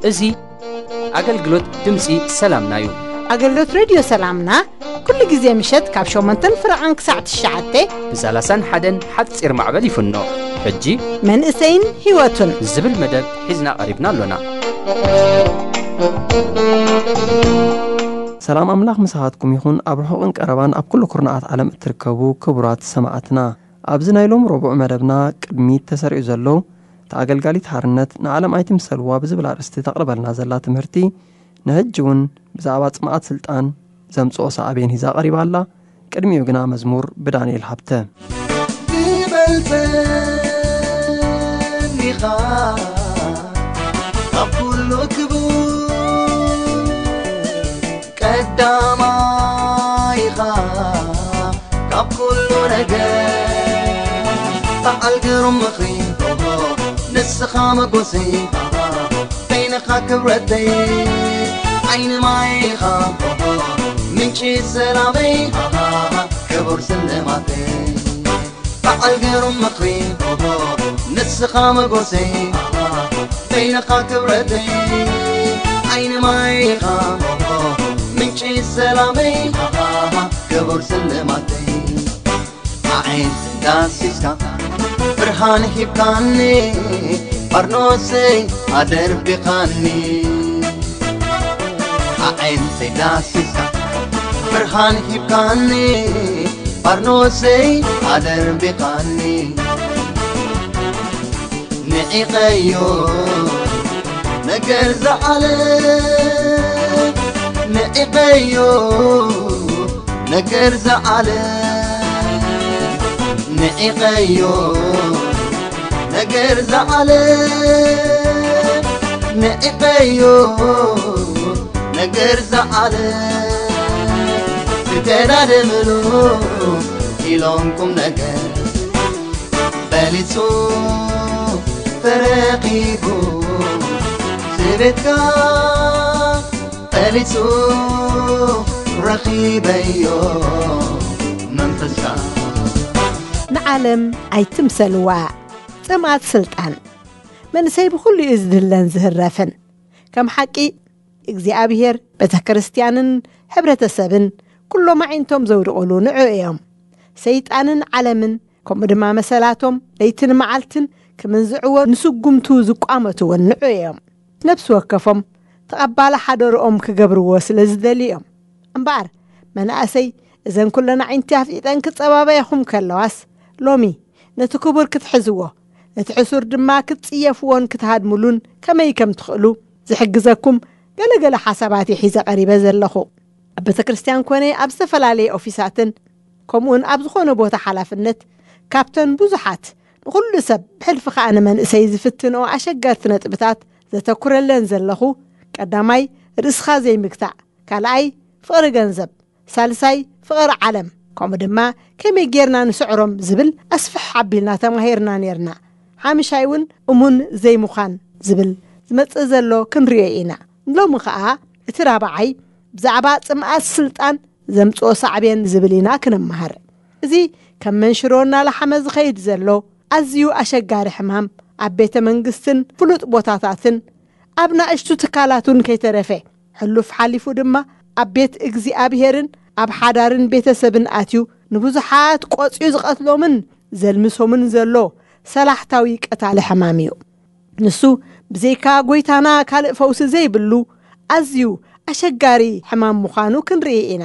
እዚ ኣገልግሎት ድምፂ ሰላምና እዩ። ኣገልግሎት ሬድዮ ሰላምና ኩሉ ግዜ ምሸት ካብ ሸሞንተን ፍረቓን ክሳዕ ትሽዓተ ብ ሰላሳን ሓደን ሓፂር ማዕበል ይፍኖ። ሕጂ መንእሰይን ህይወቱን ዝብል መደብ ሒዝና ቀሪብና ኣሎና። ሰላም ኣምላኽ ምሳኻትኩም ይኹን። ኣብ ርሑቕን ቀረባን ኣብ ኩሉ ኩርናዓት ዓለም እትርከቡ ክቡራት ሰማዕትና፣ ኣብዚ ናይ ሎም ረቡዕ መደብና ቅድሚት ተሰሪዑ ዘሎ፣ እታ ኣገልጋሊት ሓርነት ንዓለም ኣይትምሰልዋ ብዝብል ኣርእስቲ ተቕርበልና ዘላ ትምህርቲ፣ ንሕጂ እውን ብዛዕባ ጽምኣት ስልጣን ዘምጽኦ ሳዕቤን ሒዛ ቀሪባ ኣላ። ቅድሚኡ ግና መዝሙር ብዳንኤል ሃብተ። ትበልጸኒኻ ካብ ኩሉ ክቡር ቀዳማይኻ ካብ ኩሉ ነገር በዓል ግሩም ምኽሪ ንስኻ መጎሰይ በይንኻ ክብረተይ ዓይኒ ማይኻ ምንጪ ሰላመይ ክቡር ስልማተይ በዓል ግሩም ምኽሪ ንስኻ መጎሰይ በይንኻ ክብረተይ ዓይኒ ማይኻ ምንጪ ሰላመይ ክቡር ስልማተይ ኣዒንቲ ዳሲስካ ብርሃን ሂብካኒ ባርኖሰይ ኣደርቢኻኒ ኣዒንተይ ዳሲስካ ብርሃን ሂብካኒ ባርኖሰይ ኣደርቢኻኒ ንዒቐዮ ነገር ዝዓለ ንዒቐዮ ነገር ዝዓለ ንዒቐዮ ነገር ዝዓለ ንዒቐዮ ነገር ዝዓለ ዝተዳደምሉ ኢሎም ቁም ነገር በሊጹ ተረኺቡ ስቤትካ በሊጹ ረኺበዮ መንፈስካ ንዓለም ኣይትምሰልዋ ጽምኣት ስልጣን መንእሰይ ብኹሉ እዩ ዝድለን ዝህረፍን ከም ሓቂ እግዚኣብሔር ቤተ ክርስቲያንን ሕብረተሰብን ኩሎም ኣዒንቶም ዘውድቕሉ ንዑ እዮም ሰይጣንን ዓለምን ከምኡ ድማ መሰላቶም ለይትን መዓልትን ክምንዝዕዎ ንስጉምቱ ዝቋመትዎን ንዑ እዮም ነብሲ ወከፎም ተቐባሊ ሓደርኦም ክገብርዎ ስለ ዝደልዩ እዮም እምበኣር መናእሰይ እዘን ኩለን ኣዒንቲ ኣፍጢጠን ክጸባበያኹም ከለዋስ ሎሚ ነቲ ክቡር ክትሕዝዎ ነቲ ሕሱር ድማ ክትጽየፍዎን ክትሃድምሉን ከመይ ከም ትኽእሉ ዝሕግዘኩም ገለገለ ሓሳባት ሒዘ ቀሪበ ዘለኹ ኣብ ቤተ ክርስቲያን ኮነ ኣብ ዝተፈላለየ ኦፊሳትን ከምኡውን ኣብ ዝኾነ ቦታ ሓላፍነት ካብተን ብዙሓት ንኹሉ ሰብ ብሕልፊ ከዓ ንመንእሰይ ዝፍትንኦ ኣሸገርቲ ነጥብታት ዘተኩረለን ዘለኹ ቀዳማይ ርእስኻ ዘይምግታእ ካልኣይ ፍቕሪ ገንዘብ ሳልሳይ ፍቕሪ ዓለም ከምኡ ድማ ከመይ ጌርና ንስዕሮም ዝብል ኣስፍሕ ኣቢልና ተማሂርና ኔርና ሓምሻይ እውን እሙን ዘይምዃን ዝብል ዝመጽእ ዘሎ ክንሪኦ ኢና ሎሚ ኸዓ እቲ ራብዓይ ብዛዕባ ጽምኣት ስልጣን ዘምጽኦ ሳዕቤን ዝብል ኢና ክንመሃር እዚ ከም መንሽሮ እናላሓመ ዝኸይድ ዘሎ ኣዝዩ ኣሸጋሪ ሕማም ኣብ ቤተ መንግስትን ፍሉጥ ቦታታትን ኣብ ናእሽቱ ትካላቱን ከይተረፈ ሕሉፍ ሓሊፉ ድማ ኣብ ቤት እግዚኣብሄርን ኣብ ሓዳርን ቤተሰብን ኣትዩ ንብዙሓት ቆጽዩ ዝቐትሎምን ዘልምሶምን ዘሎ ሰላሕታዊ ቀታሊ ሕማም እዩ። ንሱ ብዘይካ ጎይታና ካልእ ፈውሲ ዘይብሉ ኣዝዩ ኣሸጋሪ ሕማም ምዃኑ ክንርኢ ኢና።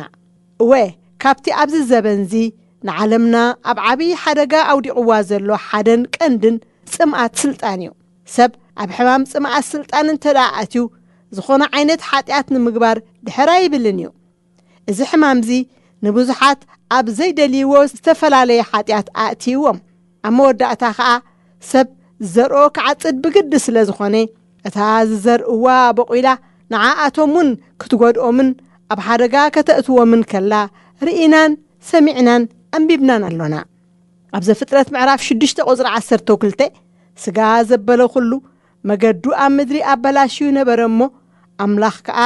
እወ፣ ካብቲ ኣብዚ ዘበንዚ ንዓለምና ኣብ ዓብዪ ሓደጋ ኣውዲቕዋ ዘሎ ሓደን ቀንድን ጽምኣት ስልጣን እዩ። ሰብ ኣብ ሕማም ጽምኣት ስልጣን እንተ ደኣ ኣትዩ ዝኾነ ዓይነት ሓጢኣት ንምግባር ድሕር ኣይብልን እዩ። እዚ ሕማምዚ ንብዙሓት ኣብ ዘይደልይዎ ዝተፈላለየ ሓጢኣት ኣእትይዎም። ኣብ መወዳእታ ኸኣ ሰብ ዝዘርኦ ክዓጽድ ብግዲ ስለ ዝኾነ እታ ዝዘርእዋ ቦቒላ ንዓኣቶም እውን ክትጎድኦምን ኣብ ሓደጋ ከተእትዎምን ከላ ርኢናን ሰሚዕናን ኣንቢብናን ኣሎና። ኣብ ዘፍጥረት ምዕራፍ ሽዱሽተ ቁጽሪ ዓሰርተ ክልተ ስጋ ዘበለ ኩሉ መገዱ ኣብ ምድሪ ኣበላሽዩ ነበረ እሞ፣ ኣምላኽ ከኣ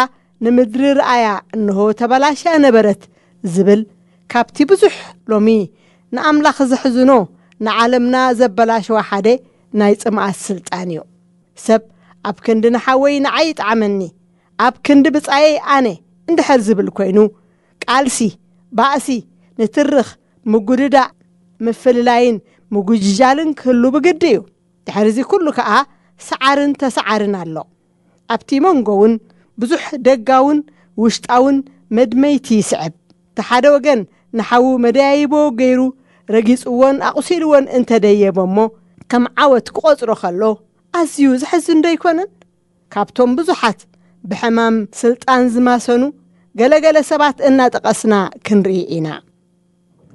ንምድሪ ረኣያ፣ እንሆ ተበላሽያ ነበረት ዝብል፣ ካብቲ ብዙሕ ሎሚ ንኣምላኽ ዘሕዝኖ፣ ንዓለምና ዘበላሸዋ ሓደ ናይ ጽምኣት ስልጣን እዩ። ሰብ ኣብ ክንዲ ንሓወይ ንዓይ ይጥዓመኒ፣ ኣብ ክንዲ ብጻየይ ኣነ እንድሕር ዝብል ኮይኑ፣ ቃልሲ፣ ባእሲ፣ ንትርኽ፣ ምጉድዳእ፣ ምፍልላይን ምጉጅጃልን ክህሉ ብግዲ እዩ። ድሕሪ እዚ ኩሉ ከኣ ሰዓርን ተሰዓርን ኣሎ። ኣብቲ መንጎ እውን ብዙሕ ደጋውን ውሽጣውን መድመይቲ ይስዕብ። እቲ ሓደ ወገን ንሓዉ መደያይቦ ገይሩ ረጊጽዎን ኣቑሲልዎን እንተደየበ እሞ ከም ዓወት ክቖጽሮ ከሎ ኣዝዩ ዘሕዝን ዶ ኣይኮነን? ካብቶም ብዙሓት ብሕማም ስልጣን ዝማሰኑ ገለገለ ሰባት እናጠቐስና ክንርኢ ኢና።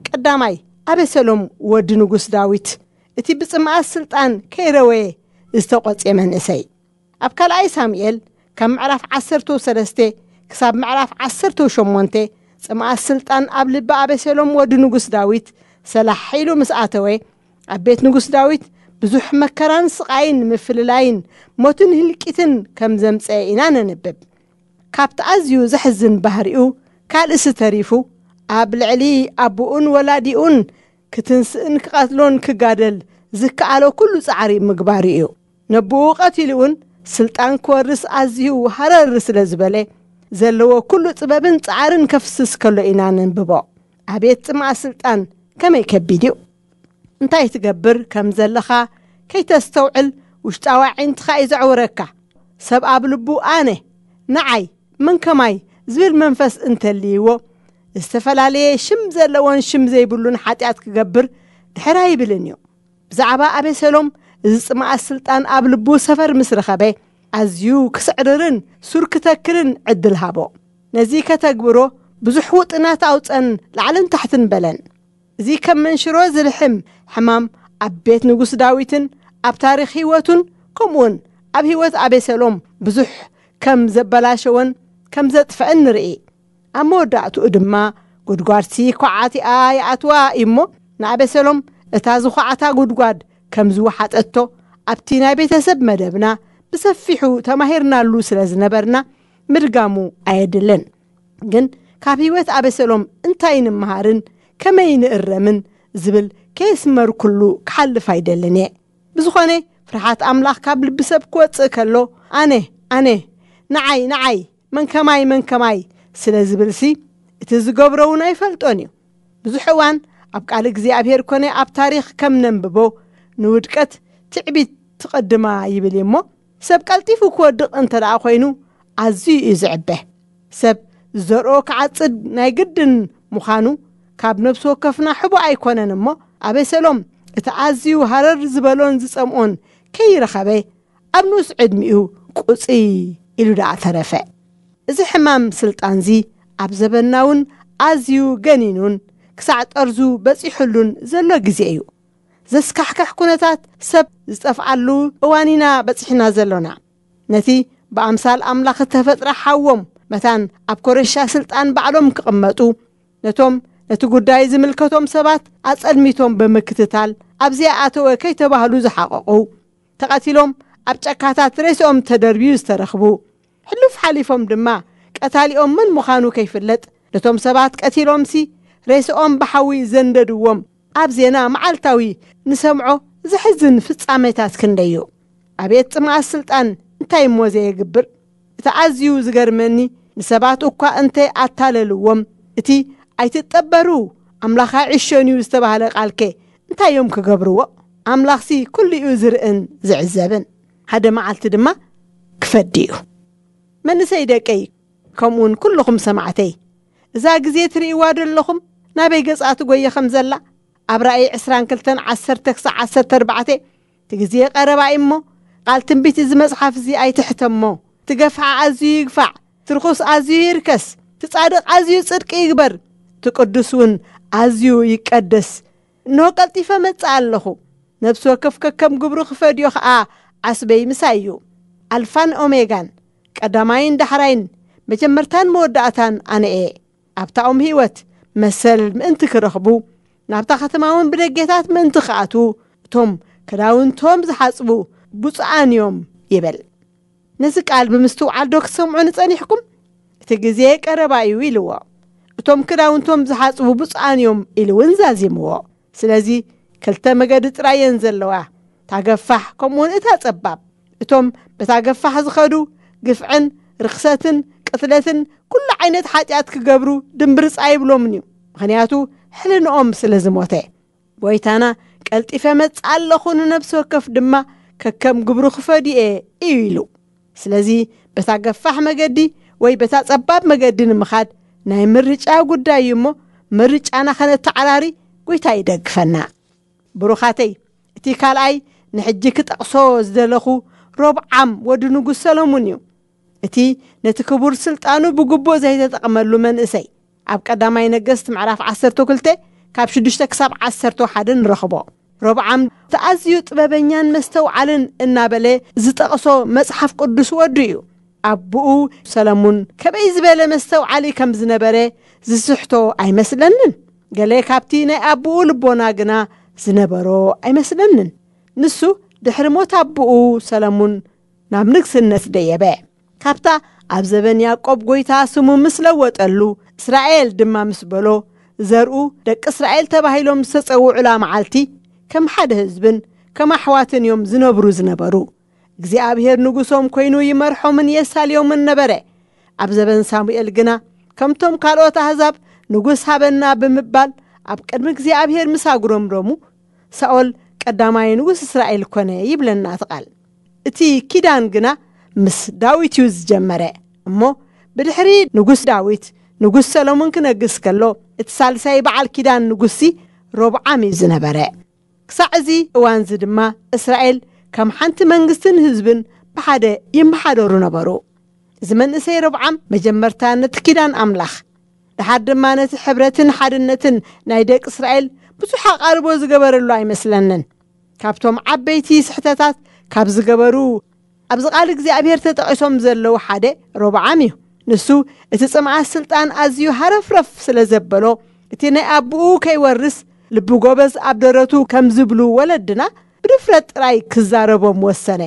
ቀዳማይ፣ ኣቤሰሎም ወዲ ንጉስ ዳዊት፣ እቲ ብጽምኣት ስልጣን ከይረወየ ዝተቖጽየ መንእሰይ። ኣብ ካልኣይ ሳሙኤል ካብ ምዕራፍ ዓሰርተ ሰለስተ ክሳብ ምዕራፍ ዓሰርተ ሸሞንተ ጽምኣት ስልጣን ኣብ ልቢ ኣቤሰሎም ወዲ ንጉስ ዳዊት ሰላሕ ኢሉ ምስ ኣተወ፣ ኣብ ቤት ንጉስ ዳዊት ብዙሕ መከራን ስቓይን ምፍልላይን ሞትን ህልቂትን ከም ዘምጸአ ኢና ነንብብ። ካብቲ ኣዝዩ ዘሕዝን ባህሪኡ ካልእሲ ተሪፉ፣ ኣብ ልዕሊ ኣቦኡን ወላዲኡን ክትንስእን ክቐትሎን ክጋደል ዝከኣሎ ኩሉ ጻዕሪ ምግባሩ እዩ። ነቦኡ ቀቲሉ እውን ስልጣን ክወርስ ኣዝዩ ሃረር ስለ ዝበለ፣ ዘለዎ ኩሉ ጥበብን ጻዕርን ከፍስስ ከሎ ኢና ነንብቦ። ኣቤት ጽምኣ ስልጣን ከመይ ከቢድ እዩ! እንታይ ትገብር ከም ዘለኻ ከይተስተውዕል ውሽጣዊ ኣዒንትኻ እዩ ዘዕውረካ። ሰብ ኣብ ልቡ ኣነ፣ ንዓይ፣ መን ከማይ ዝብል መንፈስ እንተልይዎ፣ ዝተፈላለየ ሽም ዘለዎን ሽም ዘይብሉን ሓጢኣት ክገብር ድሕር ኣይብልን እዩ። ብዛዕባ ኣቤሰሎም እዚ ጽምኣት ስልጣን ኣብ ልቡ ሰፈር ምስ ረኸበ፣ ኣዝዩ ክስዕርርን ሱር ክተክልን ዕድል ሃቦ። ነዚ ከተግብሮ ብዙሕ ውጥናት ኣውጸን ላዕልን ታሕትን በለን። እዚ ከም መንሽሮ ዝልሕም ሕማም ኣብ ቤት ንጉስ ዳዊትን ኣብ ታሪኽ ህይወቱን ከምኡውን ኣብ ህይወት ኣቤሰሎም ብዙሕ ከም ዘበላሸወን ከም ዘጥፍአን ንርኢ። ኣብ መወዳእትኡ ድማ ጉድጓድሲ ኳዓቲኣ ይኣትዋ እዩ እሞ፣ ንኣቤሰሎም እታ ዝኳዓታ ጉድጓድ ከም ዝወሓጠቶ ኣብቲ ናይ ቤተሰብ መደብና ብሰፊሑ ተማሂርናሉ ስለ ዝነበርና ምድጋሙ ኣየድልን። ግን ካብ ህይወት ኣቤሰሎም እንታይ ንምሃርን ከመይ ንእረምን ዝብል ከየስመርኩሉ ክሓልፍ ኣይደልን እየ። ብዝኾነ፣ ፍርሃት ኣምላኽ ካብ ልቢ ሰብ ክወጽእ ከሎ፣ ኣነ፣ ኣነ፣ ንዓይ፣ ንዓይ፣ መን ከማይ፣ መን ከማይ ስለ ዝብልሲ፣ እቲ ዝገብሮ እውን ኣይፈልጦን እዩ። ብዙሕ እዋን ኣብ ቃል እግዚኣብሔር ኮነ ኣብ ታሪኽ ከም ነንብቦ፣ ንውድቀት ትዕቢት ትቐድማ ይብል እዩ እሞ፣ ሰብ ቀልጢፉ ክወድቕ እንተ ደኣ ኮይኑ፣ ኣዝዩ እዩ ዝዕበ። ሰብ ዝዘርኦ ክዓጽድ ናይ ግድን ምዃኑ ካብ ነፍሲ ወከፍና ሕቡእ ኣይኮነን እሞ፣ ኣቤሰሎም እቲ ኣዝዩ ሃረር ዝበሎን ዝጸምኦን ከይረኸበ፣ ኣብ ንኡስ ዕድሚኡ ቁጽይ ኢሉ ደኣ ተረፈ። እዚ ሕማም ስልጣንዚ ኣብ ዘበንና እውን ኣዝዩ ገኒኑን ክሳዕ ጠርዙ በጺሑሉን ዘሎ ግዜ እዩ። ዘስካሕክሕ ኩነታት ሰብ ዝጠፍኣሉ እዋን ኢና በጺሕና ዘሎና። ነቲ ብኣምሳል ኣምላኽ እተፈጥረ ሓዎም መታን ኣብ ኮረሻ ስልጣን ባዕሎም ክቕመጡ፣ ነቶም ነቲ ጉዳይ ዝምልከቶም ሰባት ኣጸልሚቶም ብምክትታል፣ ኣብዚኣ ኣተወ ከይተባህሉ ዝሓቐቑ፣ ተቐቲሎም ኣብ ጫካታት ሬስኦም ተደርብዩ ዝተረኽቡ፣ ሕሉፍ ሓሊፎም ድማ ቀታሊኦም መን ምዃኑ ከይፍለጥ፣ ነቶም ሰባት ቀቲሎምሲ ሬስኦም ብሓዊ ዘንደድዎም፣ ኣብ ዜና መዓልታዊ ንሰምዖ ዘሕዝን ፍጻሜታት ክንደይ እዩ። ኣቤት ጽምኣት ስልጣን እንታይ እሞ ዘየግብር! እቲ ኣዝዩ ዝገርመኒ፣ ንሰባት እኳ እንተ ኣታለልዎም፣ እቲ "ኣይትጠበሩ፣ ኣምላኽ ኣይዕሾን እዩ" ዝተባህለ ቃልከ እንታይ እዮም ክገብርዎ? ኣምላኽሲ ኩሉ እዩ ዝርእን ዝዕዘብን። ሓደ መዓልቲ ድማ ክፈዲ እዩ። መንእሰይ ደቀይ፣ ከምኡውን ኩልኹም ሰማዕተይ፣ እዛ ግዜ ትርእይዋ ዶ ኣለኹም ናበይ ገጻ ትጎየ ከም ዘላ? ኣብ ራእይ ዕስራን ክልተን፣ ዓሰርተ ክሳዕ ዓሰርተ ኣርባዕተ፣ "እቲ ግዜ ቀረባ እዩ እሞ፣ ቃል ትንቢት እዚ መጽሓፍ እዚ ኣይትሕተሞ። እቲ ገፍዓ ኣዝዩ ይግፋዕ፣ እቲ ርኹስ ኣዝዩ ይርከስ፣ እቲ ጻድቕ ኣዝዩ ጽድቂ ይግበር፣ እቲ ቅዱስ እውን ኣዝዩ ይቀደስ። እንሆ ቀልጢፈ መጽእ ኣለኹ። ነፍሲ ወከፍ ከከም ግብሩ ክፈድዮ ኸኣ ዓስበይ ምሳይ እዩ። ኣልፋን ኦሜጋን፣ ቀዳማይን ዳሕራይን፣ መጀመርታን መወዳእታን ኣነ እየ። ኣብታ ኦም ህይወት መሰል ምእንቲ ክረኽቡ፣ ናብታ ከተማ እውን ብደጌታት ምእንቲ ክኣትዉ፣ እቶም ክዳውንቶም ዝሓጽቡ ብፁዓን እዮም ይብል። ነዚ ቃል ብምስትውዓል ዶ ክትሰምዑ ንጸኒሕኩም? እቲ ግዜ ቀረባ እዩ ኢልዎ። እቶም ክዳውንቶም ዝሓጽቡ ብፁዓን እዮም ኢሉ እውን ዛዚምዎ። ስለዚ ክልተ መገዲ ጥራይ እየን ዘለዋ፣ እታ ገፋሕ ከምኡውን እታ ጸባብ። እቶም በታ ገፋሕ ዝኸዱ ግፍዕን ርኽሰትን ቅትለትን ኩሉ ዓይነት ሓጢኣት ክገብሩ ድምብርጻ ይብሎምን እዩ፣ ምኽንያቱ ሕልንኦም ስለ ዝሞተ። ጎይታና ቀልጢፈ መጽእ ኣለኹ፣ ንነብሲ ወከፍ ድማ ከከም ግብሩ ክፈድየ እዩ ኢሉ። ስለዚ በታ ገፋሕ መገዲ ወይ በታ ጸባብ መገዲ ንምኻድ ናይ ምርጫ ጉዳይ እዩ እሞ፣ ምርጫና ከነተዓራሪ ጎይታ ይደግፈና። ብሩኻተይ፣ እቲ ካልኣይ ንሕጂ ክጠቕሶ ዝደለኹ ሮብዓም ወዲ ንጉስ ሰሎሙን እዩ። እቲ ነቲ ክቡር ስልጣኑ ብግቡእ ዘይተጠቕመሉ መንእሰይ፣ ኣብ ቀዳማይ ነገስት ምዕራፍ ዓሰርተ ክልተ ካብ ሽዱሽተ ክሳብ ዓሰርተ ሓደ ንረኽቦ። ሮብዓም እቲ ኣዝዩ ጥበበኛን መስተውዓልን እናበለ ዝጠቕሶ መጽሓፍ ቅዱስ ወዱ እዩ። ኣቦኡ ሰለሙን ከመይ ዝበለ መስተውዓሊ ከም ዝነበረ ዝስሕቶ ኣይመስለንን። ገለ ካብቲ ናይ ኣቦኡ ልቦና ግና ዝነበሮ ኣይመስለንን። ንሱ ድሕሪ ሞት ኣቦኡ ሰለሙን ናብ ንግስነት ደየበ። ካብታ ኣብ ዘበን ያዕቆብ ጎይታ ስሙ ምስ ለወጠሉ፣ እስራኤል ድማ ምስ በሎ፣ ዘርኡ ደቂ እስራኤል ተባሂሎም ዝተጸውዑላ መዓልቲ፣ ከም ሓደ ህዝብን ከም ኣሕዋትን እዮም ዝነብሩ ዝነበሩ። እግዚኣብሔር ንጉሶም ኮይኑ ይመርሖምን የሳልዮምን ነበረ። ኣብ ዘበን ሳሙኤል ግና፣ ከምቶም ካልኦት ኣህዛብ ንጉስ ሃበና ብምባል ኣብ ቅድሚ እግዚኣብሔር ምስ ኣጉረምረሙ፣ ሳኦል ቀዳማይ ንጉስ እስራኤል ኮነ ይብለና እቲ ቃል። እቲ ኪዳን ግና ምስ ዳዊት እዩ ዝጀመረ። እሞ ብድሕሪ ንጉስ ዳዊት፣ ንጉስ ሰሎሞን ክነግስ ከሎ፣ እቲ ሳልሳይ በዓል ኪዳን ንጉሲ ሮብዓም እዩ ዝነበረ። ክሳዕ እዚ እዋንዚ ድማ እስራኤል ከም ሓንቲ መንግስትን ህዝብን ብሓደ ይመሓደሩ ነበሩ። እዚ መንእሰይ ሮብዓም መጀመርታ ነቲ ኪዳን ኣምላኽ፣ ደሓር ድማ ነቲ ሕብረትን ሓድነትን ናይ ደቂ እስራኤል ብዙሕ ኣቓልቦ ዝገበረሉ ኣይመስለንን። ካብቶም ዓበይቲ ስሕተታት ካብ ዝገበሩ ኣብዚ ቃል እግዚኣብሔር ተጠቒሶም ዘለዉ ሓደ ሮብዓም እዩ። ንሱ እቲ ጽምኣት ስልጣን ኣዝዩ ሃረፍረፍ ስለ ዘበሎ፣ እቲ ናይ ኣቦኡ ከይወርስ ልቢ ጎበዝ ኣብ ደረቱ ከም ዝብሉ ወለድና ብድፍረት ጥራይ ክዛረቦም ወሰነ።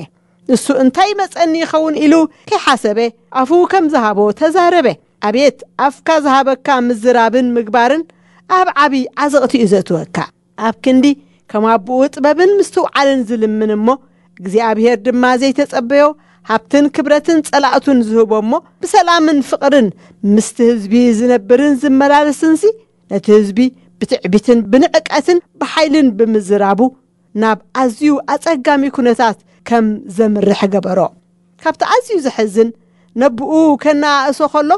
ንሱ እንታይ ይመጸኒ ይኸውን ኢሉ ከይሓሰበ ኣፉ ከም ዝሃቦ ተዛረበ። ኣቤት ኣፍካ ዝሃበካ ምዝራብን ምግባርን ኣብ ዓቢ ዓዘቕቲ እዩ ዘእትወካ። ኣብ ክንዲ ከም ኣቦኡ ጥበብን ምስትውዓልን ዝልምን እሞ እግዚኣብሔር ድማ ዘይተጸበዮ ሃብትን ክብረትን ጸላእቱን ዝህቦ እሞ ብሰላምን ፍቕርን ምስቲ ህዝቢ ዝነብርን ዝመላለስንሲ ነቲ ህዝቢ ብትዕቢትን ብንዕቀትን ብሓይልን ብምዝራቡ ናብ ኣዝዩ ኣጸጋሚ ኩነታት ከም ዘምርሕ ገበሮ። ካብቲ ኣዝዩ ዘሕዝን ነብኡ ከነኣእሶ ከሎ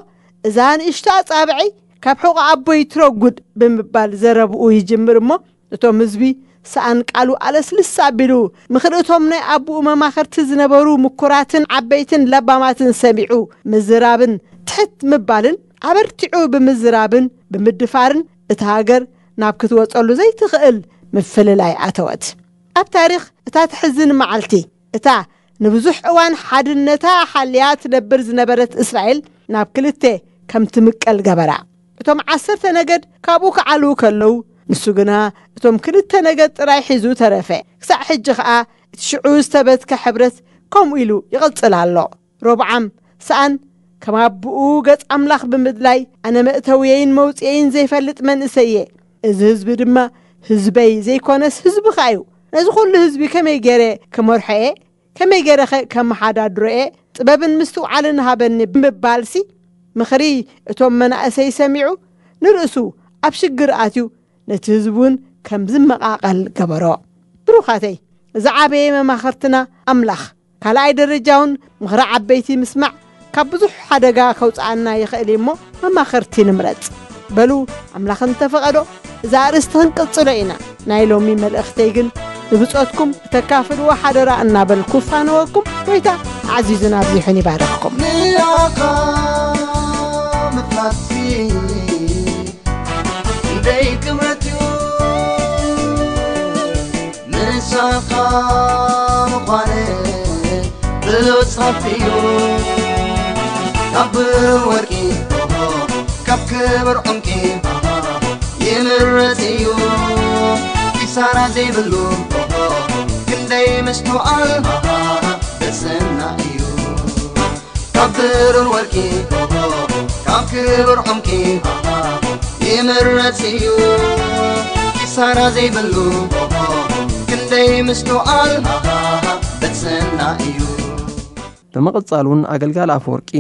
እዛ ንእሽቶ ኣጻብዐይ ካብ ሕቖ ኣቦይ ትረጉድ ብምባል ዘረብኡ ይጅምር እሞ እቶም ህዝቢ ሰኣን ቃሉ ኣለስልስ ኣቢሉ ምኽሪ እቶም ናይ ኣቦኡ መማኸርቲ ዝነበሩ ምኩራትን ዓበይትን ለባማትን ሰሚዑ ምዝራብን ትሕት ምባልን ኣበርቲዑ ብምዝራብን ብምድፋርን እታ ሃገር ናብ ክትወጸሉ ዘይትኽእል ምፍልላይ ኣተወት። ኣብ ታሪኽ እታ ትሕዝን መዓልቲ እታ ንብዙሕ እዋን ሓድነታ ሓልያ ትነብር ዝነበረት እስራኤል ናብ ክልተ ከም ትምቀል ገበራ። እቶም ዓሰርተ ነገድ ካብኡ ክዓልዉ ከለዉ ንሱ ግና እቶም ክልተ ነገድ ጥራይ ሒዙ ተረፈ። ክሳዕ ሕጂ ኸኣ እቲ ሽዑ ዝተበትከ ሕብረት ከምኡ ኢሉ ይቕጽል ኣሎ። ሮብዓም ሰኣን ከም ኣቦኡ ገጽ ኣምላኽ ብምድላይ ኣነ መእተውየይን መውጽኤይን ዘይፈልጥ መንእሰይ እየ። እዚ ህዝቢ ድማ ህዝበይ ዘይኮነስ ህዝብኻ እዩ። ነዚ ኩሉ ህዝቢ ከመይ ገይረ ክመርሖ እየ? ከመይ ገይረኸ ከመሓዳድሮ እየ? ጥበብን ምስትውዓልን ሃበኒ ብምባልሲ ምኽሪ እቶም መናእሰይ ሰሚዑ ንርእሱ ኣብ ሽግር ኣትዩ ነቲ ህዝቢ እውን ከም ዝመቓቐል ገበሮ። ብሩኻተይ ዝዓበየ መማኽርትና ኣምላኽ ካልኣይ ደረጃውን ምኽሪ ዓበይቲ ምስማዕ ካብ ብዙሕ ሓደጋ ከውፅኣና ይኽእል እዩ እሞ መማኽርቲ ንምረፅ። በሉ ኣምላኽ እንተፈቐዶ እዛ ኣርእስቲ ክንቅፅሎ ኢና። ናይ ሎሚ መልእኽተይ ግን ንብጾትኩም እተካፍልዎ ሓደራ እናበልኩ ፋነወኩም። ጎይታ ኣዕዚዙን ኣብዚሑን ይባርኽኩም። ንኣኻ ምፍላጥሲ ክንደይ ክብረት እዩ። ምሳኻ ምዃነ ብሉጽ ሃብቲ እዩ። ካብ ብሩር ወርቂ ካብ ክቡር ዕንቂ ይምረጽ እዩ። ኪሳራ ዘይብሉ ለይ ምስትውዓል ብስና እዩ። ካብ ብሩር ወርቂ፣ ካብ ክቡር ዕንቂ ይምረጽ እዩ። ኪሳራ ዘይብሉ ክንደይ ምስትውዓል ብስና እዩ። ብምቕጻል እውን ኣገልጋሊ ኣፈወርቂ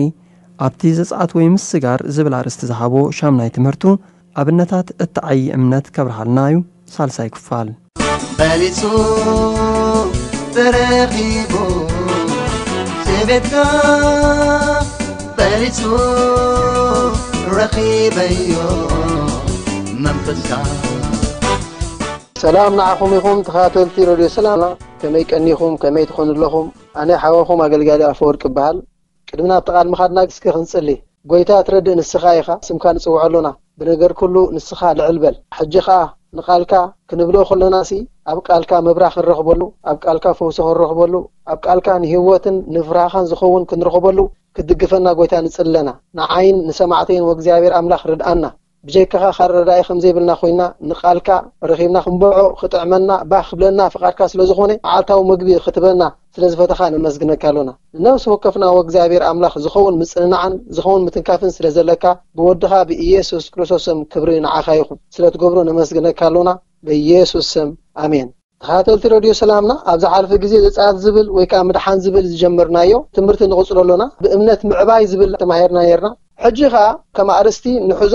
ኣብቲ ዘጽኣት ወይ ምስጋር ዝብል ኣርእስቲ ዝሃቦ ሻምናይ ትምህርቱ ኣብነታት እትዓዪ እምነት ከብርሃልና እዩ። ሳልሳይ ክፋል። በሊጹ ተረኺቡ፣ ስቤትካ በሊጹ ረኺበዮ መንፈስካ። ሰላም ንዓኹም ይኹን ተኸታተልቲ ረድዮ ሰላምና፣ ከመይ ቀኒኹም? ከመይ ትኾኑ ኣለኹም? ኣነ ሓወኹም ኣገልጋሊ ኣፈወርቂ እበሃል። ቅድሚ ናብቲ ቃል ምኻድና እስከ ክንጽሊ። ጎይታ ትረድእ ንስኻ ኢኻ፣ ስምካ ንጽውዖ ኣሎና። ብነገር ኩሉ ንስኻ ልዕል በል። ሕጂ ኸኣ ንቓልካ ክንብሎ ከሎናሲ ኣብ ቃልካ መብራኽ ክንረኽበሉ፣ ኣብ ቃልካ ፈውሲ ክንረኽበሉ፣ ኣብ ቃልካ ንህይወትን ንፍርሃኻን ዝኸውን ክንረኽበሉ ክትድግፈና ጎይታ ንጽሊ ኣለና። ንዓይን ንሰማዕተይን ወእግዚኣብሔር ኣምላኽ ርድኣና። ብጀካኻ ኣረዳኢ ከም ዘይብልና ኮይና ንቓልካ ረኺብና ክንበዖ ክጥዕመና ባህ ክብለና ፍቓድካ ስለ ዝኾነ መዓልታዊ ምግቢ ክትበና ስለ ዝፈተኻ ነመስግነካ ኣሎና። ንነፍሲ ወከፍና ወእግዚኣብሔር ኣምላኽ ዝኸውን ምጽንናዕን ዝኸውን ምትንካፍን ስለ ዘለካ ብወድኻ ብኢየሱስ ክርስቶስ ስም ክብሪ ንዓኻ ይኹን። ስለ ትገብሮ ነመስግነካ ኣሎና ብኢየሱስ ስም ኣሜን። ተኸታተልቲ ረድዮ ሰላምና ኣብ ዝሓለፈ ግዜ ዘጸኣት ዝብል ወይ ከዓ ምድሓን ዝብል ዝጀመርናዮ ትምህርቲ ንቕጽሎ ኣሎና። ብእምነት ምዕባይ ዝብል ተማሂርና ነርና። ሕጂ ኸኣ ከም ኣርእስቲ ንሕዞ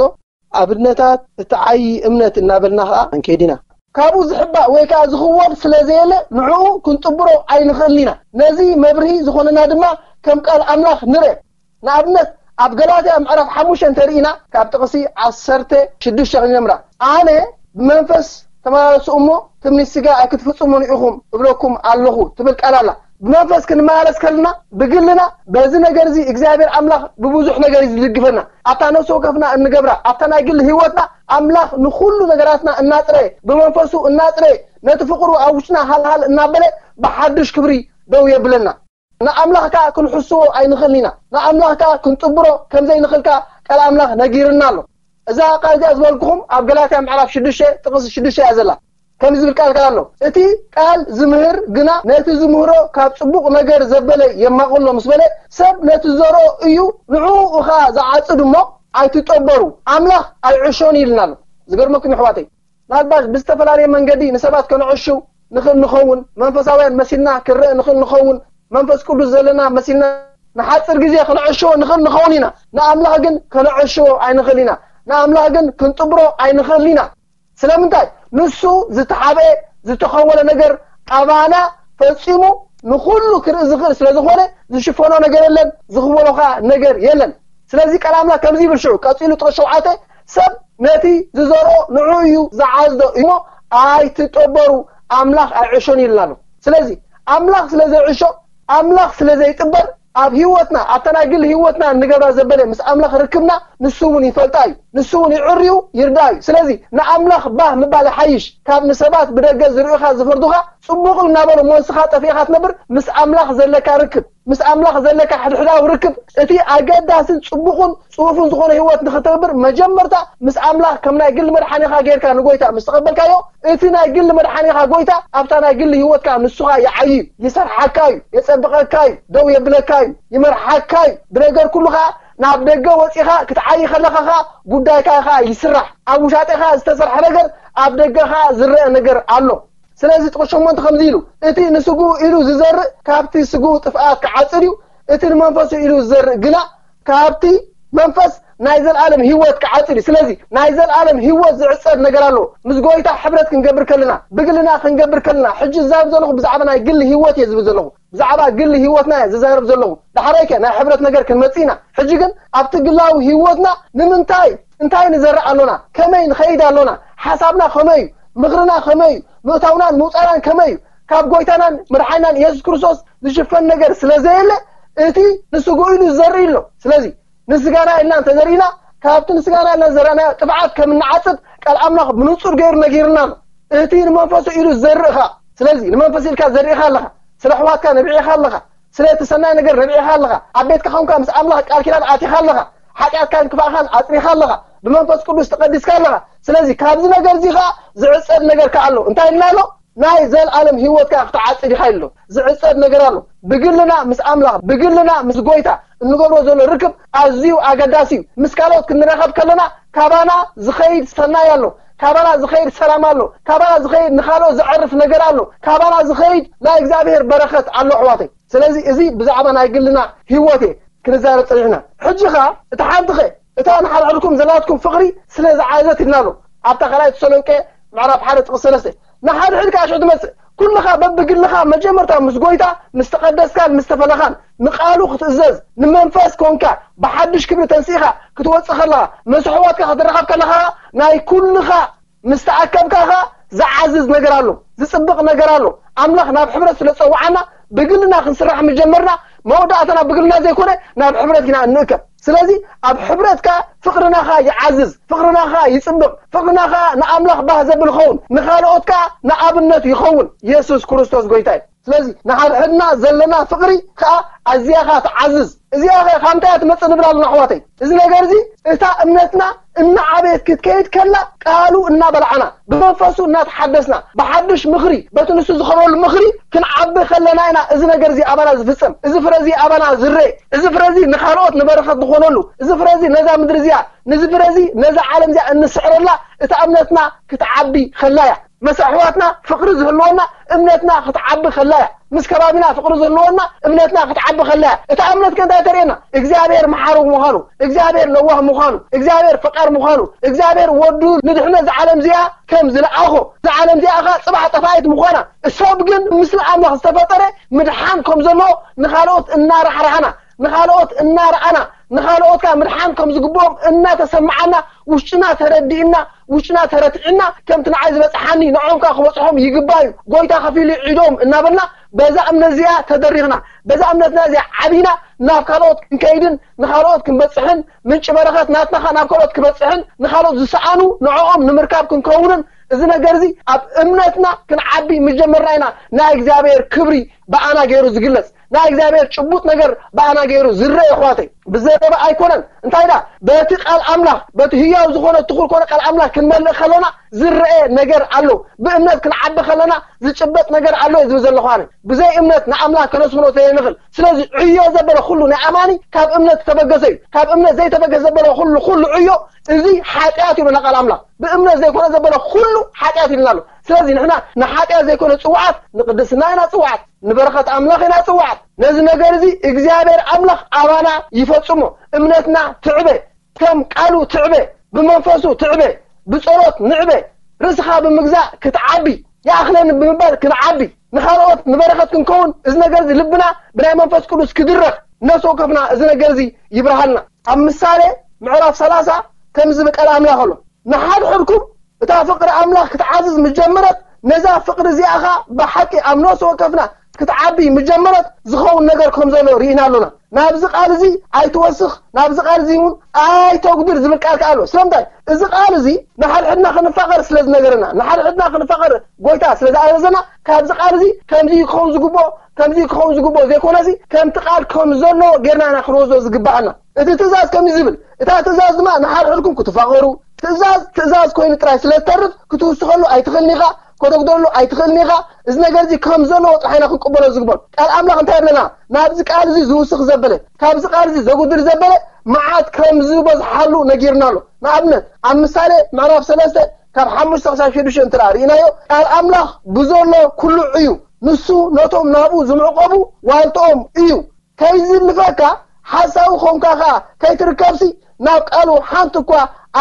ኣብነታት እቲ ዓዪ እምነት እናበልና ኸዓ ክንከይድ ኢና። ካብኡ ዝሕባእ ወይ ከዓ ዝኽወል ስለ ዘየለ ንዕኡ ክንጥብሮ ኣይንኽእልን ኢና። ነዚ መብርሂ ዝኾነና ድማ ከም ቃል ኣምላኽ ንርእ። ንኣብነት ኣብ ገላትያ ምዕራፍ ሓሙሽተ እንተርኢና ካብ ጥቕሲ ዓሰርተ ሽዱሽተ ክንጀምራ። ኣነ ብመንፈስ ተመላለሱ እሞ ትምኒት ስጋ ኣይክትፍጽሙን ኢኹም እብለኩም ኣለኹ ትብል ቃል ኣላ። ብመንፈስ ክንመላለስ ከለና ብግልና በዚ ነገር እዚ እግዚኣብሔር ኣምላኽ ብብዙሕ ነገር እዩ ዝድግፈና። ኣብታ ነፍሲ ወከፍና እንገብራ ኣብታ ናይ ግሊ ህይወትና ኣምላኽ ንኹሉ ነገራትና እናጽረየ ብመንፈሱ እናጽረየ ነቲ ፍቕሩ ኣብ ውሽጥና ሃልሃል እናበለ ብሓድሽ ክብሪ ደው የብለና። ንኣምላኽ ከኣ ክንሕስዎ ኣይንኽእልን ኢና። ንኣምላኽ ከኣ ክንጥብሮ ከም ዘይንኽእል ከኣ ቃል ኣምላኽ ነጊርና ኣሎ። እዛ ቃል እዚኣ ዝበልኩኹም ኣብ ገላትያ ምዕራፍ ሽዱሽተ ጥቕሲ ሽዱሽተ እያ ዘላ። ከምዚ ዝብል ቃል ከኣ ኣሎ፣ እቲ ቃል ዝምህር ግና ነቲ ዝምህሮ ካብ ጽቡቕ ነገር ዘበለ የማቕሎ ምስ በለ፣ ሰብ ነቲ ዝዘርኦ እዩ ንዕኡ ኸኣ ዝዓጽድ እሞ ኣይትጠበሩ፣ ኣምላኽ ኣይዕሾን ኢልና ኣሎ። ዝገርመኩም ኣሕዋተይ፣ ምናልባት ብዝተፈላለየ መንገዲ ንሰባት ከነዕሹ ንኽእል ንኸውን፣ መንፈሳውያን መሲልና ክንረአ ንኽእል ንኸውን፣ መንፈስ ቅዱስ ዘለና መሲልና ንሓፂር ግዜ ከነዕሽዎ ንኽእል ንኸውን ኢና። ንኣምላኽ ግን ከነዕሽዎ ኣይንኽእል ኢና። ንኣምላኽ ግን ክንጥብሮ ኣይንኽእል ኢና። ስለምንታይ? ንሱ ዝተሓብአ ዝተኸወለ ነገር ኣባና ፈፂሙ ንኹሉ ክርኢ ዝኽእል ስለ ዝኾነ ዝሽፈኖ ነገር የለን፣ ዝኽወሎ ኸዓ ነገር የለን። ስለዚ ቃል ኣምላኽ ከምዚ ይብል ሽዑ ቀፂሉ ጥቕሲ ሸውዓተ፣ ሰብ ነቲ ዝዘርኦ ንዑ እዩ ዝዓዝዶ እሞ ኣይትጠበሩ፣ ኣምላኽ ኣይዕሾን ይልና ኣሎ። ስለዚ ኣምላኽ ስለ ዘይዕሾ፣ ኣምላኽ ስለ ዘይጥበር ኣብ ህይወትና ኣብታ ናይ ግሊ ህይወትና እንገብራ ዘበለ ምስ ኣምላኽ ርክብና ንሱ እውን ይፈልጣ እዩ፣ ንሱ እውን ይዕርዩ ይርዳ እዩ። ስለዚ ንኣምላኽ ባህ ምባል ይሓይሽ ካብ ንሰባት ብደገ ዝርእዩኻ ዝፈርዱኻ ጽቡቕ እናበሉ እሞ ንስኻ ጠፊእኻ ትነብር። ምስ ኣምላኽ ዘለካ ርክብ ምስ ኣምላኽ ዘለካ ሕድሕዳዊ ርክብ እቲ ኣገዳስን ጽቡቕን ጽፉፍን ዝኾነ ህይወት ንኽትነብር መጀመርታ ምስ ኣምላኽ ከም ናይ ግሊ መድሓኒኻ ጌርካ ንጎይታ ምስ ተቐበልካዮ እቲ ናይ ግሊ መድሓኒኻ ጎይታ ኣብታ ናይ ግሊ ህይወትካ ንሱኻ ይዓዩ ይሰርሓካ እዩ የጸብቐካ እዩ ደው የብለካ እዩ ይመርሓካ እዩ ብነገር ኩሉ ኸዓ ናብ ደገ ወጺኻ ክትዓዪ ከለኻ ኸዓ ጉዳይካ ኸዓ ይስራሕ ኣብ ውሻጤኻ ዝተሰርሐ ነገር ኣብ ደገ ኸዓ ዝረአ ነገር ኣሎ ስለዚ ጥቕስ ሸሞንተ ከምዚ ኢሉ እቲ ንስግኡ ኢሉ ዝዘርእ ካብቲ ስግኡ ጥፍኣት ክዓጽድ እዩ እቲ ንመንፈሱ ኢሉ ዝዘርእ ግና ካብቲ መንፈስ ናይ ዘለኣለም ህይወት ክዓጽድ እዩ ስለዚ ናይ ዘለኣለም ህይወት ዝዕጸድ ነገር ኣሎ ምስ ጎይታ ሕብረት ክንገብር ከለና ብግልና ክንገብር ከለና ሕጂ ዝዛረብ ዘለኹ ብዛዕባ ናይ ግሊ ህይወት እየ ዝብል ዘለኹ ብዛዕባ ግሊ ህይወትና እየ ዝዛረብ ዘለኹ ዳሕራይከ ናይ ሕብረት ነገር ክንመጽእ ኢና ሕጂ ግን ኣብቲ ግላዊ ህይወትና ንምንታይ እንታይ ንዘርእ ኣሎና ከመይ ንኸይድ ኣሎና ሓሳብና ከመይ እዩ ምኽርና ከመይ እዩ ምእታውናን ምውፃናን ከመይ እዩ ካብ ጎይታናን መድሓኒናን ኢየሱስ ክርስቶስ ዝሽፈን ነገር ስለ ዘየለ እቲ ንስግኡ ኢሉ ዝዘርእ ኣሎ ስለዚ ንስጋና ኢልና እንተዘሪእና ካብቲ ንስጋና ኢልና ዝዘራእናዮ ጥፍዓት ከም እንዓፅድ ቃል ኣምላኽ ብንፁር ገይሩ ነጊርና ኣሎ እቲ ንመንፈሱ ኢሉ ዝዘርእ ኸዓ ስለዚ ንመንፈስ ኢልካ ዘሪእኻ ኣለኻ ስለ ኣሕዋትካ ነቢዕኻ ኣለኻ ስለ እቲ ሰናይ ነገር ነቢዕኻ ኣለኻ ኣብ ቤትካ ኾንካ ምስ ኣምላኽ ቃል ኪዳን ኣቲኻ ኣለኻ ሓጢኣትካን ክፋእኻን ኣፅሪኻ ኣለኻ ብመንፈስ ቅዱስ ተቐዲስካ ኣለኻ ስለዚ ካብዚ ነገር እዚ ኸዓ ዝዕፀድ ነገር ከ ኣሎ እንታይ ኢልና ኣሎ ናይ ዘልኣለም ህይወትካ ክትዓጽድ ኢኻ ኣሎ። ዝዕጸድ ነገር ኣሎ። ብግልና ምስ ኣምላኽ፣ ብግልና ምስ ጎይታ እንገብሮ ዘሎ ርክብ ኣዝዩ ኣገዳሲ እዩ። ምስ ካልኦት ክንራኸብ ከለና ካባና ዝኸይድ ሰናይ ኣሎ፣ ካባና ዝኸይድ ሰላም ኣሎ፣ ካባና ዝኸይድ ንኻልኦት ዘዕርፍ ነገር ኣሎ፣ ካባና ዝኸይድ ናይ እግዚኣብሔር በረኸት ኣሎ ኣሕዋተይ። ስለዚ እዚ ብዛዕባ ናይ ግልና ህይወት እየ ክንዛረብ ጸኒሕና። ሕጂ ኸኣ እቲ ሓንቲ ኸ እታ ንሓድሕድኩም ዘላትኩም ፍቕሪ ስለ ዝዓዘት ኢልና ኣሎ ኣብታ ካልኣይ ተሰሎንቄ ምዕራፍ ሓደ ጥቕሲ ሰለስተ። ንሓድሕድካ ሽዑ ትመጽእ። ኩልኻ በብግልኻ መጀመርታ ምስ ጎይታ ምስ ተቐደስካን ምስ ተፈለኻን ንቓሉ ክትእዘዝ ንመንፈስ ኮንካ ብሓድሽ ክብሪ ተንሲእኻ ክትወጽእ ከለኻ መስሕዋትካ ክትረኸብ ከለኻ ናይ ኩልኻ ምስ ተኣከብካ ኸኣ ዝዓዝዝ ነገር ኣሎ፣ ዝጽብቕ ነገር ኣሎ። ኣምላኽ ናብ ሕብረት ስለ ዝጸውዓና ብግልና ክንስራሕ ምጀመርና መወዳእታና ብግልና ዘይኮነ ናብ ሕብረት ኢና እንእከብ። ስለዚ ኣብ ሕብረትካ ፍቕርናኻ ይዓዝዝ፣ ፍቕርናኻ ይጽብቕ፣ ፍቕርናኻ ንኣምላኽ ባህ ዘብል ኸውን፣ ንኻልኦትካ ንኣብነት ይኸውን። የሱስ ክርስቶስ ጎይታ እዩ። ስለዚ ንሓድሕድና ዘለና ፍቕሪ ከኣ ኣዝያኻ ትዓዝዝ። እዚኣ ኸ ካብ እንታይ እያ ትመጽእ ንብል ኣለና ኣሕዋተይ? እዚ ነገር እዚ እታ እምነትና እናዓበየት ክትከይድ ከላ ቃሉ እናበላዕና ብመንፈሱ እናተሓደስና ብሓድሽ ምኽሪ በቲ ንሱ ዝኸበሉ ምኽሪ ክንዓቢ ከለና ኢና እዚ ነገር እዚ ኣባና ዝፍጸም፣ እዚ ፍረ እዚ ኣባና ዝረኤ፣ እዚ ፍረ እዚ ንኻልኦት ንበረኸት ዝኾነሉ፣ እዚ ፍረ እዚ ነዛ ምድሪ እዚኣ፣ ንዚ ፍረ እዚ ነዛ ዓለም እዚኣ እንስዕረላ እታ እምነትና ክትዓቢ ከላ እያ። መሳሕዋትና ፍቕሪ ዝህልወና እምነትና ክትዓቢ ከላ እያ። ምስ ከባቢና ፍቕሪ ዝህልወና እምነትና ክትዓቢ ከላ እያ። እታ እምነት ከ እንታይ ተርእየና? እግዚኣብሔር መሓሪ ምዃኑ፣ እግዚኣብሔር ለዋህ ምዃኑ፣ እግዚኣብሔር ፈቃር ምዃኑ፣ እግዚኣብሔር ወዱ ንድሕነት ዝዓለም እዚኣ ከም ዝለኣኾ፣ ዝዓለም እዚኣ ኸ ጽባሕ ጠፋኢት ምዃና፣ ሰብ ግን ምስሊ ኣምላኽ ዝተፈጠረ ምድሓን ከም ዘለዎ ንኻልኦት እናራሕራሕና፣ ንኻልኦት እናረኣና፣ ንኻልኦት ከኣ ምድሓን ከም ዝግብኦም እናተሰማዓና፣ ውሽጥና ተረዲእና፣ ውሽጥና ተረቲዕና፣ ከምቲ ንዓይ ዝበጽሓኒ ንዖም ከኣ ክበጽሖም ይግባእ እዩ፣ ጎይታ ከፊሉ እዩ ዕዶም እናበልና፣ በዛ እምነት እዚኣ ተደሪኽና፣ በዛ እምነትና እዚኣ ዓቢና፣ ናብ ካልኦት ክንከይድን ንኻልኦት ክንበጽሕን፣ ምንጪ በረኸት ናትና ከኣ ናብ ካልኦት ክበጽሕን፣ ንኻልኦት ዝሰኣኑ ንዕኦም ንምርካብ ክንከውንን፣ እዚ ነገር እዚ ኣብ እምነትና ክንዓቢ ምስ ጀመርና ኢና ናይ እግዚኣብሔር ክብሪ ብኣና ገይሩ ዝግለጽ። ናይ እግዚኣብሔር ጭቡጥ ነገር ብኣና ገይሩ ዝረአ፣ ኣሕዋተይ። ብዘረባ ኣይኮነን። እንታይ ደኣ? በቲ ቃል ኣምላኽ፣ በቲ ህያው ዝኾነ ትኹል ኮነ ቃል ኣምላኽ ክንመልእ ከለና ዝረአ ነገር ኣሎ። ብእምነት ክንዓቢ ከለና ዝጭበጥ ነገር ኣሎ እየ ዝብል ዘለኹ ኣነ። ብዘይ እምነት ንኣምላኽ ከነስምሮ ዘይንኽእል። ስለዚ ዕዮ ዘበለ ኩሉ ናይ ኣማኒ ካብ እምነት ዝተበገሰ እዩ። ካብ እምነት ዘይተበገሰ ዘበለ ኩሉ፣ ኩሉ ዕዮ እዚ ሓጢኣት እዩ ኢሉና ቃል ኣምላኽ። ብእምነት ዘይኮነ ዘበለ ኩሉ ሓጢኣት ኢልና ኣሎ። ስለዚ ንሕና ንሓጢኣት ዘይኮነ ጽውዓት፣ ንቅድስና ኢና ጽውዓት፣ ንበረኸት ኣምላኽ ኢና ጽውዓት። ነዚ ነገር እዚ እግዚኣብሔር ኣምላኽ ኣባና ይፈጽሞ። እምነትና ትዕበ፣ ከም ቃሉ ትዕበ፣ ብመንፈሱ ትዕበ፣ ብጸሎት ንዕበ፣ ርእስኻ ብምግዛእ ክትዓቢ፣ ይኣኽለኒ ብምባል ክንዓቢ፣ ንኻልኦት ንበረኸት ክንከውን፣ እዚ ነገር እዚ ልብና ብናይ መንፈስ ቅዱስ ክድረኽ፣ ነፍሲ ወከፍና እዚ ነገር እዚ ይብርሃልና። ኣብ ምሳሌ ምዕራፍ ሰላሳ ከምዚ ዝብል ቃል ኣምላኽ ኣሎ፣ ንሓድሕድኩም እታ ፍቕሪ ኣምላኽ ክትዓዝዝ ምስ ጀመረት፣ ነዛ ፍቕሪ እዚኣ ኸኣ ብሓቂ ኣብ ነፍሲ ወከፍና ክትዓቢ ምስ ጀመረት፣ ዝኸውን ነገር ከም ዘሎ ርኢና ኣሎና። ናብዚ ቃል እዚ ኣይትወስኽ፣ ናብዚ ቃል እዚ እውን ኣይተጉድል ዝብል ቃል ከኣ ኣሎ። ስለምንታይ? እዚ ቃል እዚ ንሓድሕድና ክንፋቐር ስለ ዝነገረና፣ ንሓድሕድና ክንፋቐር ጎይታ ስለ ዝኣዘዘና፣ ካብዚ ቃል እዚ ከምዚ ክኸውን ዝግብኦ፣ ከምዚ ክኸውን ዝግብኦ ዘይኮነሲ፣ ከምቲ ቃል ከም ዘሎ ጌርና ኢና ክንወስዶ ዝግብኣና። እቲ ትእዛዝ ከምዚ ዝብል፣ እታ ትእዛዝ ድማ ንሓድሕድኩም ክትፋቐሩ፣ ትእዛዝ ትእዛዝ ኮይኑ ጥራይ ስለ ዝተርፍ፣ ክትውስኸሉ ኣይትኽእልን ኢኻ፣ ከተጉደሉ ኣይትኽእልን ኢኻ። እዚ ነገር እዚ ከም ዘለዎ ጥራሕ ኢና ክንቅበሎ ዝግበኦ። ቃል ኣምላኽ እንታይ ይብለና? ናብዚ ቃል እዚ ዝውስኽ ዘበለ፣ ካብዚ ቃል እዚ ዘጉድል ዘበለ መዓት ከም ዝበዝሓሉ ነጊርና ኣሎ። ንኣብነት፣ ኣብ ምሳሌ ምዕራፍ ሰለስተ ካብ ሓሙሽተ ክሳብ ሽዱሽተ እንተ ደኣ ርኢናዮ፣ ቃል ኣምላኽ ብዘሎ ኩሉ እዩ፣ ንሱ ነቶም ናብኡ ዝምዕቆቡ ዋልትኦም እዩ። ከይዝልፈካ ሓሳዊ ኾንካ ኸኣ ከይትርከብሲ፣ ናብ ቃሉ ሓንቲ እኳ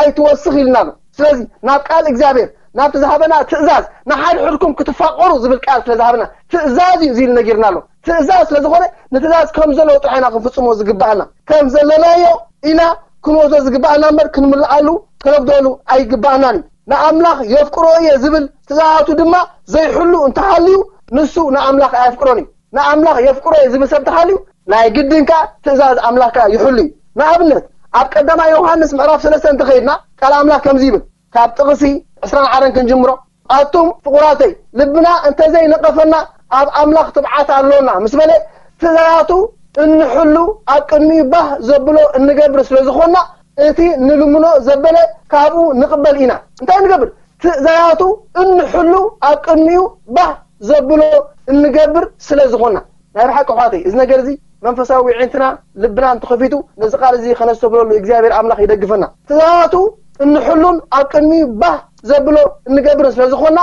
ኣይትወስኽ ኢልና ኣሎ። ስለዚ ናብ ቃል እግዚኣብሔር፣ ናብቲ ዝሃበና ትእዛዝ፣ ንሓድሕድኩም ክትፋቐሩ ዝብል ቃል ስለ ዝሃበና ትእዛዝ እዩ እዚ ኢሉ ነጊርና ኣሎ። ትእዛዝ ስለ ዝኾነ ንትእዛዝ ከም ዘለዎ ጥራሕ ኢና ክንፍጽሞ ዝግባኣና። ከም ዘለናዮ ኢና ክንወስዶ ዝግባኣና እምበር ክንምልኣሉ ከነጉደሉ ኣይግባኣናን እዩ። ንኣምላኽ የፍቅሮ እየ ዝብል ትእዛዛቱ ድማ ዘይሕሉ እንተሃልዩ ንሱ ንኣምላኽ ኣየፍቅሮን እዩ። ንኣምላኽ የፍቅሮ እየ ዝብል ሰብ እንተሃልዩ ናይ ግድን ከኣ ትእዛዝ ኣምላኽ ከኣ ይሕሉ እዩ። ንኣብነት ኣብ ቀዳማይ ዮሃንስ ምዕራፍ ሰለስተ እንተኸይድና ቃል ኣምላኽ ከምዚ ይብል። ካብ ጥቕሲ ዕስራን ሓደን ክንጅምሮ። ኣቱም ፍቑራተይ፣ ልብና እንተዘይነቐፈና ኣብ ኣምላኽ ትብዓት ኣሎና ምስ በለ፣ ትእዛዛቱ እንሕሉ ኣብ ቅድሚኡ ባህ ዘብሎ እንገብር ስለ ዝኾንና፣ እቲ ንልምኖ ዘበለ ካብኡ ንቕበል ኢና። እንታይ ንገብር? ትእዛዛቱ እንሕሉ ኣብ ቅድሚኡ ባህ ዘብሎ እንገብር ስለ ዝኾና። ናይ ብሓቂ ኣሕዋተይ፣ እዚ ነገር እዚ መንፈሳዊ ዒንትና ልብና እንተኸፊቱ ነዚ ቃል እዚ ከነስተብህለሉ እግዚኣብሔር ኣምላኽ ይደግፈና። ትእዛዛቱ እንሕሉን ኣብ ቅድሚኡ ባህ ዘብሎ እንገብርን ስለ ዝኾና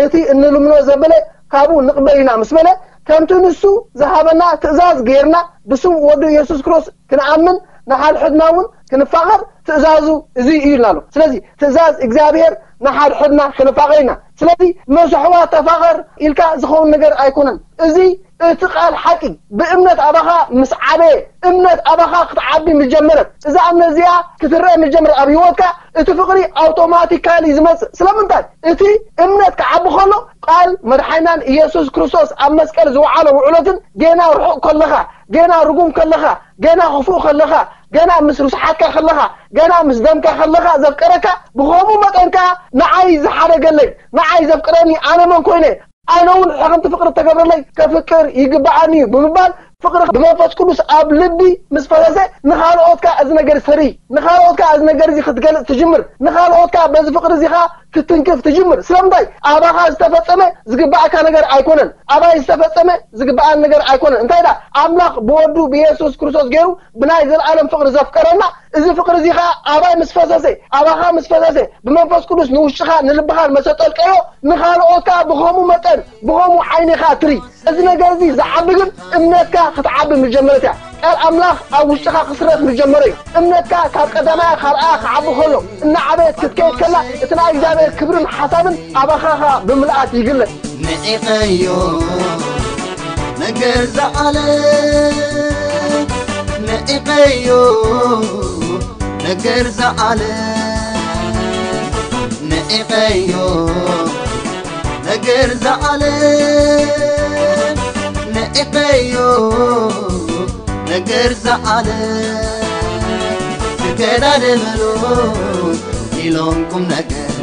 እቲ እንልምኖ ዘበለ ካብኡ ንቕበል ኢና ምስ በለ ከምቲ ንሱ ዝሃበና ትእዛዝ ገይርና ብስም ወዱ ኢየሱስ ክርስቶስ ክንኣምን ንሓድሕድና እውን ክንፋቐር ትእዛዙ እዚ እዩ ኢልና ኣሎ። ስለዚ ትእዛዝ እግዚኣብሔር ንሓድሕድና ክንፋቐር ኢና። ስለዚ መሰሕዋ ተፋቐር ኢልካ ዝኸውን ነገር ኣይኮነን። እዚ እቲ ቃል ሓቂ ብእምነት ኣባኻ ምስ ዓበየ እምነት ኣባኻ ክትዓቢ ምስ ጀመረት እዛ እምነት እዚኣ ክትረአ ምስ ጀመረት ኣብ ህይወትካ እቲ ፍቕሪ ኣውቶማቲካሊ ዝመጽእ። ስለምንታይ? እቲ እምነት ክዓቢ ከሎ ቃል መድሓይናን ኢየሱስ ክርስቶስ ኣብ መስቀል ዝወዓሎ ውዕሎትን ጌና ርሑቕ ከለኻ፣ ጌና ርጉም ከለኻ፣ ጌና ክፉእ ከለኻ፣ ጌና ምስ ርስሓትካ ከለኻ፣ ጌና ምስ ደምካ ከለኻ ዘፍቀረካ ብኸምኡ መጠን ከኣ ንዓይ ዝሓደገለይ ንዓይ ዘፍቅረኒ ኣነ መን ኮይነ ኣነ እውን ሕኽምቲ ፍቅሪ እተገብረለይ ከፍቅር ይግባኣኒ እዩ ብምባል ፍቅሪ ብመንፈስ ቅዱስ ኣብ ልቢ ምስ ፈሰሰ ንኻልኦት ከኣ እዚ ነገር ሰሪ ንኻልኦት ከኣ እዚ ነገር እዚ ክትገልጽ ትጅምር ንኻልኦት ከኣ በዚ ፍቅሪ እዚ ከኣ ክትንክፍ ትጅምር ስለምንታይ ኣባኻ ዝተፈጸመ ዝግባኣካ ነገር ኣይኮነን ኣባይ ዝተፈጸመ ዝግባኣን ነገር ኣይኮነን እንታይ ዳ ኣምላኽ ብወዱ ብየሱስ ክርስቶስ ገይሩ ብናይ ዘለኣለም ፍቅሪ ዘፍቀረና እዚ ፍቅሪ እዚ ከኣ ኣባይ ምስ ፈሰሰ ኣባኻ ምስ ፈሰሰ ብመንፈስ ቅዱስ ንውሽጥኻ ንልብኻን መሰጠልቀዮ ንኻልኦት ከኣ ብኸምኡ መጠን ብኸምኡ ዓይኒ ኢኻ ትርኢ እዚ ነገር እዚ ዝዓቢ ግን እምነትካ ክትዓቢ ምስ ጀመረት እያ ቃል ኣምላኽ ኣብ ውሽጥኻ ክስረት ምስ ጀመረ እዩ እምነትካ ካብ ቀዳማያ ካብ ርኣ ክዓቢ ከሎ እናዓበየት ክትከይድ ከላ እቲ ናይ እግዚኣብሔር ክብርን ሓሳብን ኣባኻ ኸኣ ብምልኣት ይግለጽ ንዒቐዮ ነገር ዝዓለ ንዒቐዮ ነገር ዝዓለ ንዒቐዮ ነገር ዝዓለ ንዒቐዮ ነገር ዝዓለ ትገዳደመሉ ኢሎም ቁም ነገር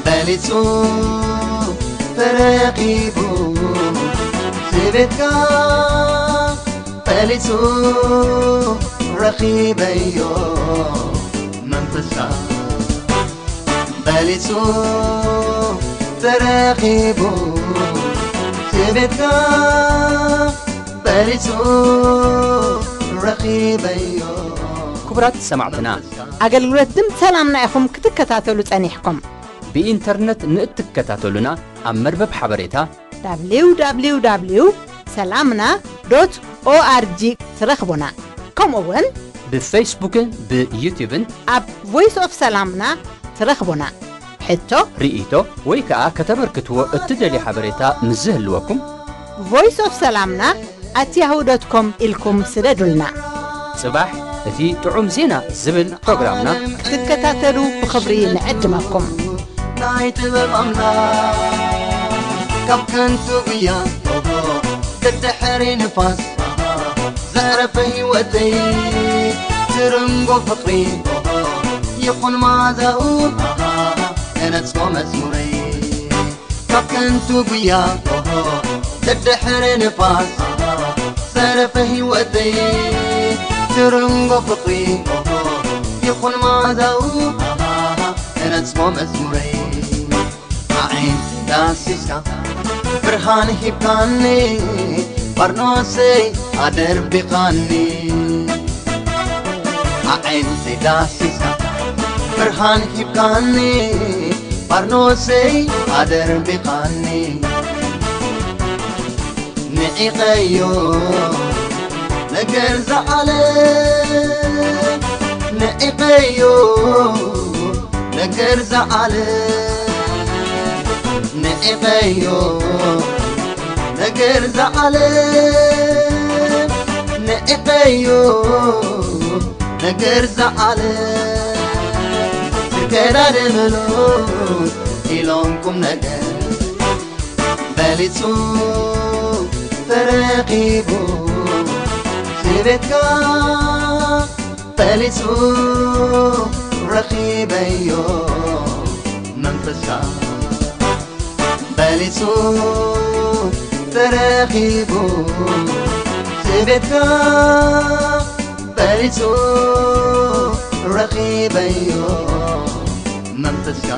በሊጹ ተረኺቡ ስቤትካ በሊጹ ረኺበዮ መንፈስካ በሊጹ ተረኺቡ ስቤትካ በሊጹ ረኺበዮ ክቡራት ሰማዕትና ኣገልግሎት ድምፂ ሰላምና ኢኹም ክትከታተሉ ጸኒሕኩም። ብኢንተርነት ንእትከታተሉና ኣብ መርበብ ሓበሬታ www ሰላምና ዶት ኦኣርጂ ትረኽቡና። ከምኡ እውን ብፌስቡክን ብዩቱብን ኣብ ቮይስ ኦፍ ሰላምና ትረኽቡና። ሕቶ፣ ርእይቶ ወይ ከኣ ከተበርክትዎ እትደልዩ ሓበሬታ ምስ ዝህልወኩም voice of ሰላምና at yahoo dot com ኢልኩም ስደዱልና። ጽባሕ እቲ ጥዑም ዜና ዝብል ፕሮግራምና ክትከታተሉ ብኽብሪ ንዕድመኩም። ናይ ጥበብ ኣምላኽ ካብ ከንቱ ጉያ ደድሕሪ ንፋስ ዘዕረፈ ህይወተይ ትርንጎ ፍቕሪ ይኹን ማዛኡ ተነጽፎ መዝሙረይ ካብ ከንቱ ጉያ ደድሕሪ ንፋስ ዘረፈ ህይወተይ ትርንጎ ፍቕሪ ይኹን ማዛኡ ተነጽፎ መዝሙረይ ኣዒንቲ ዳሲስካ ብርሃን ሂብካኒ ባርኖሰይ ኣደርቢኻኒ ኣዒንቲ ዳሲስካ ብርሃን ሂብካኒ ባርኖሰይ ኣደርቢኻኒ ንዒቐዮ ነገር ዝዓለ ንዒቐዮ ነገር ዝዓለ ንዒቐዮ ነገር ዝዓለ ንዒቐዮ ነገር ዝዓለ ዝገዳደመሉ ኢሎም ቁም ነገር በሊጹ ተረኺቡ ስቤትካ በሊጹ ረኺበዮ መንፈስካ በሊጹ ተረኺቡ ስቤትካ በሊጹ ረኺበዮ መንፈስካ